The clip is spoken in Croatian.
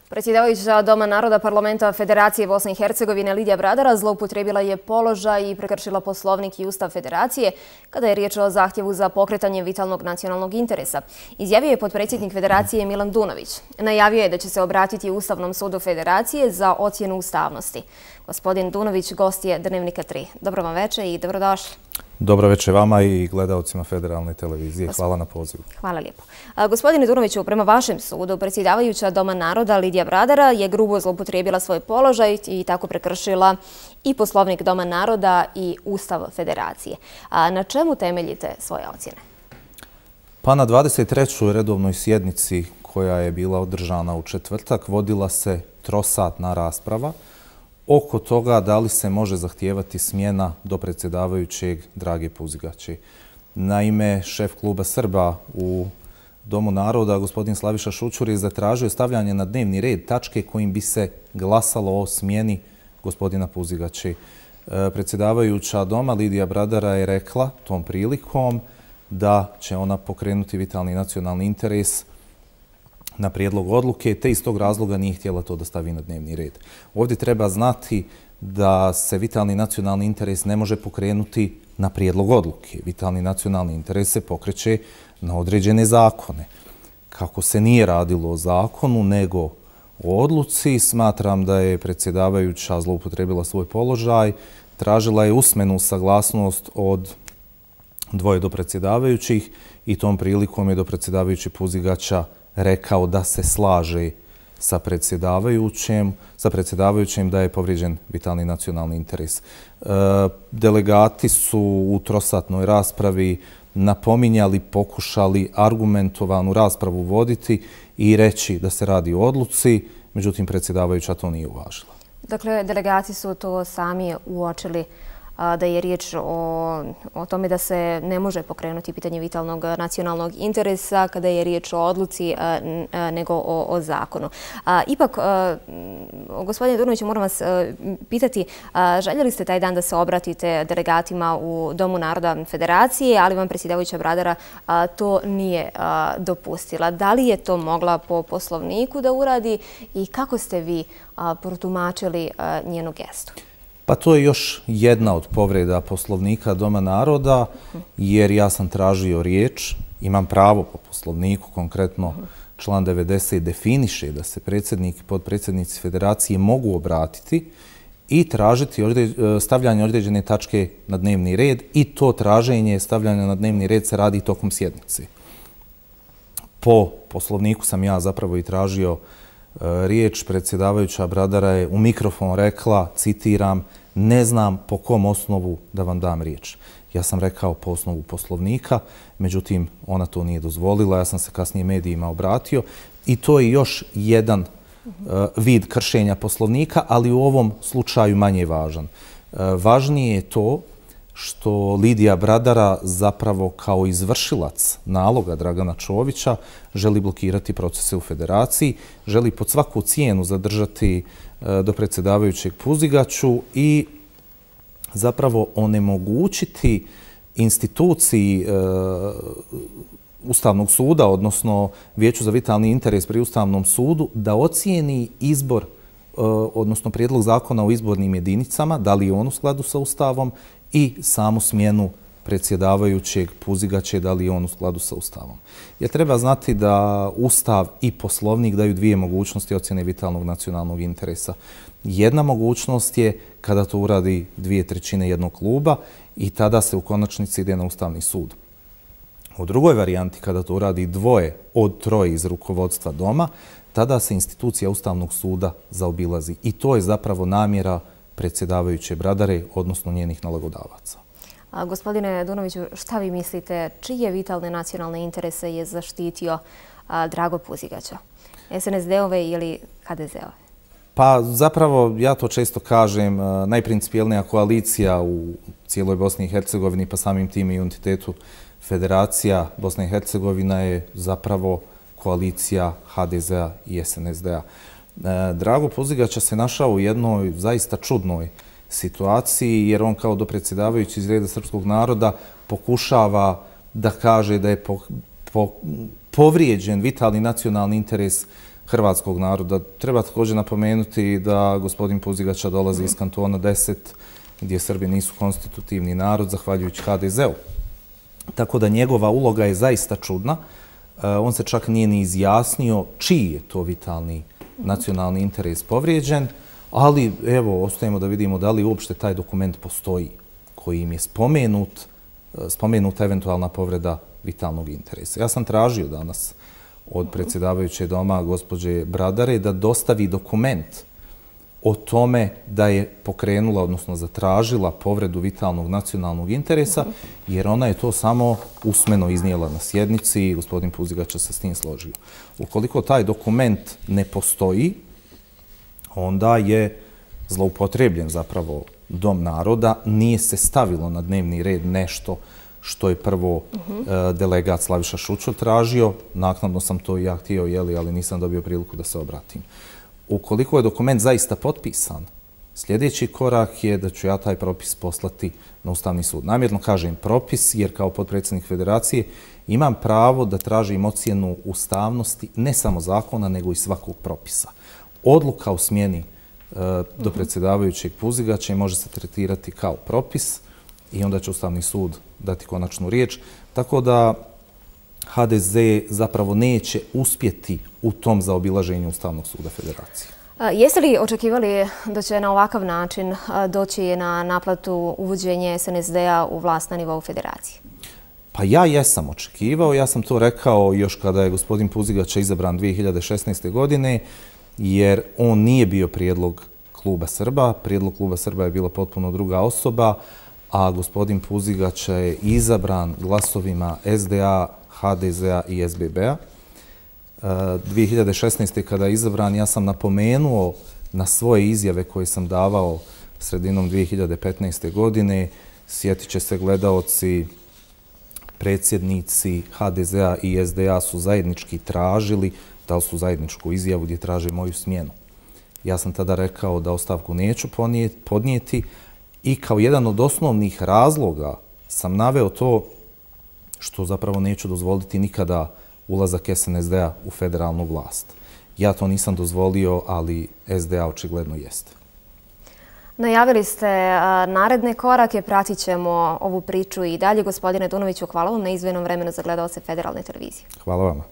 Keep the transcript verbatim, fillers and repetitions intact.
Predsjedavajuća Doma naroda Parlamenta Federacije Bosne i Hercegovine Lidija Bradara zloupotrijebila je položaj i prekršila Poslovnik i Ustav Federacije kada je riječ o zahtjevu za pokretanje vitalnog nacionalnog interesa. Izjavio je potpredsjednik Federacije Milan Dunović. Najavio je da će se obratiti Ustavnom sudu Federacije za ocjenu ustavnosti. Gospodin Dunović gost je Dnevnika tri. Dobro vam večer i dobrodošli. Dobro večer vama i gledalcima Federalne televizije. Hvala na pozivu. Hvala lijepo. Gospodine Dunoviću, prema vašem sudu, predsjedavajuća Doma naroda Lidija Bradara je grubo zloupotrijebila svoj položaj i tako prekršila i Poslovnik Doma naroda i Ustav Federacije. A na čemu temeljite svoje ocjene? Pa na dvadeset trećoj redovnoj sjednici koja je bila održana u četvrtak vodila se trosatna rasprava oko toga da li se može zahtijevati smjena do predsjedavajućeg Drage Puzigaće. Naime, šef kluba Srba u Domu naroda, gospodin Slaviša Šućur, je zatražio stavljanje na dnevni red tačke kojim bi se glasalo o smjeni gospodina Puzigaće. Predsjedavajuća Doma Lidija Bradara je rekla tom prilikom da će ona pokrenuti vitalni nacionalni interes na prijedlog odluke, te iz tog razloga nije htjela to da stavi na dnevni red. Ovdje treba znati da se vitalni nacionalni interes ne može pokrenuti na prijedlog odluke. Vitalni nacionalni interes se pokreće na određene zakone. Kako se nije radilo o zakonu, nego o odluci, smatram da je predsjedavajuća zloupotrijebila svoj položaj, tražila je usmenu saglasnost od dvoje do predsjedavajućih i tom prilikom je do predsjedavajući Puzigaća rekao da se slaže sa predsjedavajućim, sa predsjedavajućim da je povrijeđen vitalni nacionalni interes. E, delegati su u trosatnoj raspravi napominjali, pokušali argumentovanu raspravu voditi i reći da se radi o odluci, međutim predsjedavajuća to nije uvažila. Dakle, delegati su to sami uočili da je riječ o, o tome da se ne može pokrenuti pitanje vitalnog nacionalnog interesa kada je riječ o odluci nego o, o zakonu. A, ipak, a, gospodine Dunoviću, moram vas a, pitati, a, željeli ste taj dan da se obratite delegatima u Domu naroda Federacije, ali vam predsjedavajuća Bradara a, to nije a, dopustila. Da li je to mogla po Poslovniku da uradi i kako ste vi a, protumačili a, njenu gestu? Pa to je još jedna od povreda Poslovnika Doma naroda, jer ja sam tražio riječ, imam pravo po Poslovniku, konkretno član devedeset definiše da se predsjednik i potpredsjednici Federacije mogu obratiti i tražiti stavljanje određene tačke na dnevni red i to traženje stavljanja na dnevni red se radi tokom sjednice. Po Poslovniku sam ja zapravo i tražio riječ. Predsjedavajuća Bradara je u mikrofon rekla, citiram, ne znam po kom osnovu da vam dam riječ. Ja sam rekao po osnovu Poslovnika, međutim ona to nije dozvolila, ja sam se kasnije medijima obratio i to je još jedan uh, vid kršenja Poslovnika, ali u ovom slučaju manje važan. Uh, važnije je to što Lidija Bradara zapravo kao izvršilac naloga Dragana Čovića želi blokirati procese u Federaciji, želi pod svaku cijenu zadržati do predsjedavajućeg Puzigaću i zapravo onemogućiti instituciji Ustavnog suda, odnosno Vijeću za vitalni interes pri Ustavnom sudu, da ocijeni izbor, odnosno prijedlog zakona o izbornim jedinicama, da li je on u skladu sa Ustavom, i samu smjenu predsjedavajućeg Puzigaće, da li je on u skladu sa Ustavom. Jer treba znati da Ustav i Poslovnik daju dvije mogućnosti ocjene vitalnog nacionalnog interesa. Jedna mogućnost je kada to uradi dvije trećine jednog kluba i tada se u konačnici ide na Ustavni sud. U drugoj varijanti, kada to uradi dvoje od troje iz rukovodstva Doma, tada se institucija Ustavnog suda zaobilazi. I to je zapravo namjera predsjedavajuće Bradare, odnosno njenih nalogodavaca. A, gospodine Dunoviću, šta vi mislite, čije vitalne nacionalne interese je zaštitio a, Drago Puzigaća? es en es de-ove ili ha de ze-ove? Pa zapravo, ja to često kažem, najprincipijelnija koalicija u cijeloj Bosni i Hercegovini, pa samim tim i entitetu Federacija Bosna i Hercegovina je zapravo koalicija ha de ze-a i es en es de-a. Drago Puzigaća se našao u jednoj zaista čudnoj situaciji, jer on kao dopredsjedavajući iz reda srpskog naroda pokušava da kaže da je po, po, povrijeđen vitalni nacionalni interes hrvatskog naroda. Treba također napomenuti da gospodin Puzigača dolazi iz kantona deset, gdje Srbi nisu konstitutivni narod, zahvaljujući ha de zeu. Tako da njegova uloga je zaista čudna. On se čak nije ni izjasnio čiji je to vitalni nacionalni interes povrijeđen, ali evo, ostajemo da vidimo da li uopšte taj dokument postoji koji im je spomenut, spomenuta eventualna povreda vitalnog interesa. Ja sam tražio danas od predsjedavajuće doma gospođe Bradare da dostavi dokument o tome da je pokrenula, odnosno zatražila povredu vitalnog nacionalnog interesa, jer ona je to samo usmeno iznijela na sjednici i gospodin Puzigača se s tim složio. Ukoliko taj dokument ne postoji, onda je zloupotrebljen zapravo Dom naroda, nije se stavilo na dnevni red nešto što je prvo delegat Slaviša Šučur tražio. Naknadno sam to i ja htio, ali nisam dobio priliku da se obratim. Ukoliko je dokument zaista potpisan, sljedeći korak je da ću ja taj propis poslati na Ustavni sud. Namjerno kažem propis, jer kao potpredsjednik Federacije imam pravo da tražim ocjenu ustavnosti ne samo zakona, nego i svakog propisa. Odluka o smjeni do predsjedavajućeg Puzigača može se tretirati kao propis i onda će Ustavni sud dati konačnu riječ. Tako da ha de ze zapravo neće uspjeti u tom zaobilaženju Ustavnog suda Federacije. Jeste li očekivali da će na ovakav način doći na naplatu uvođenje es en es de-a u vlast na nivou Federacije? Pa ja jesam očekivao. Ja sam to rekao još kada je gospodin Puzigača izabran dvije hiljade šesnaeste. godine, jer on nije bio prijedlog Kluba Srba. Prijedlog Kluba Srba je bila potpuno druga osoba, a gospodin Puzigača je izabran glasovima es de a, ha de zea i es be be-a. dvije hiljade šesnaeste. kada je izabran, ja sam napomenuo na svoje izjave koje sam davao sredinom dvije hiljade petnaeste. godine. Sjetit će se gledaoci, predsjednici ha de zea i es de a su zajednički tražili, dali su zajedničku izjavu gdje traže moju smjenu. Ja sam tada rekao da ostavku neću podnijeti i kao jedan od osnovnih razloga sam naveo to što zapravo neću dozvoliti nikada ulazak es en es de-a u federalnu vlast. Ja to nisam dozvolio, ali es de a očigledno jeste. Najavili ste naredne korake, pratit ćemo ovu priču i dalje. Gospodine Dunoviću, hvala vam na izdvojenom vremenu za gledaoce Federalne televizije. Hvala vama.